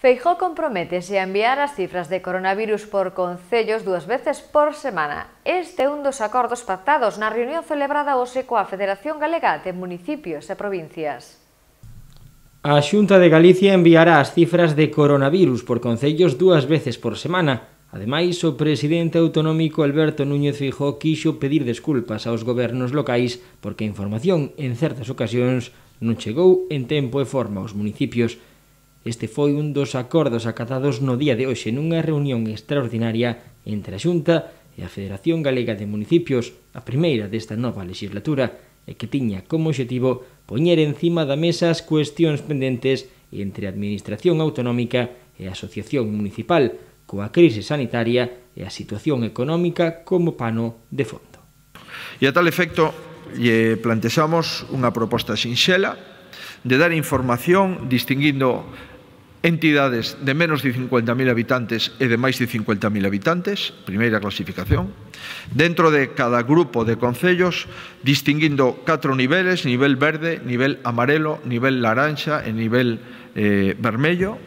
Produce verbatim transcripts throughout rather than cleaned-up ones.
Feijóo comprométese a enviar as cifras de coronavirus por concellos dúas veces por semana. Este é un dos acordos pactados na reunión celebrada hoxe coa Federación Galega de Municipios e Provincias. A Xunta de Galicia enviará as cifras de coronavirus por concellos dúas veces por semana. Ademais, o presidente autonómico Alberto Núñez Feijóo quixo pedir desculpas aos gobernos locais porque a información, en certas ocasións, non chegou en tempo e forma aos municipios. Este foi un dos acordos acatados no día de hoxe nunha reunión extraordinaria entre a Xunta e a Federación Galega de Municipios, a primeira desta nova legislatura, e que tiña como obxectivo poñer encima da mesa as cuestións pendentes entre a Administración Autonómica e a Asociación Municipal, coa crise sanitaria e a situación económica como pano de fondo. E a tal efecto, lle plantexamos unha proposta sinxela de dar información distinguindo entidades de menos de cincuenta mil habitantes e de máis de cincuenta mil habitantes, primeira clasificación, dentro de cada grupo de concellos, distinguindo catro niveles, nivel verde, nivel amarelo, nivel laranxa e nivel eh, vermello,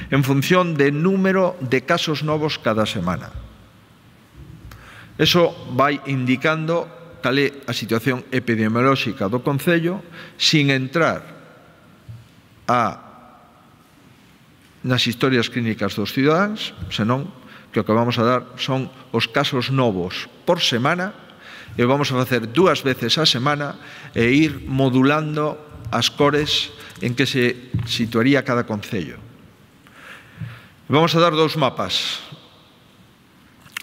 en función de número de casos novos cada semana. Eso vai indicando cal é a situación epidemiolóxica do concello, sin entrar a nas historias clínicas dos cidadáns, senón que o que vamos a dar son os casos novos por semana e vamos a facer dúas veces a semana e ir modulando as cores en que se situaría cada concello. Vamos a dar dous mapas.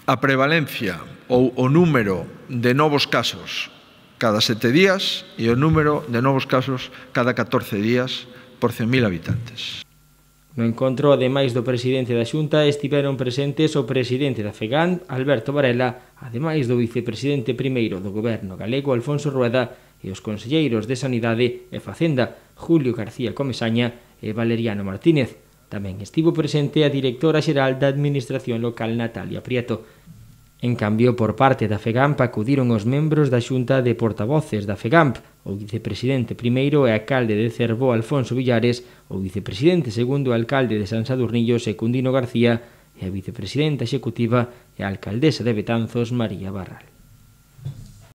A prevalencia ou o número de novos casos cada sete días e o número de novos casos cada catorce días por cen mil habitantes. No encontro, ademais do presidente da Xunta, estiveron presentes o presidente da FEGAM, Alberto Varela, ademais do vicepresidente primeiro do Goberno galego, Alfonso Rueda, e os conselleiros de Sanidade e Facenda, Julio García Comesaña e Valeriano Martínez. Tamén estivo presente a directora xeral da Administración Local, Natalia Prieto. En cambio, por parte da FEGAMP acudiron os membros da Xunta de Portavoces da FEGAMP, o vicepresidente primeiro e alcalde de Cervó, Alfonso Villares, o vicepresidente segundo e alcalde de San Sadurnillo, Secundino García, e a vicepresidenta executiva e a alcaldesa de Betanzos, María Barral.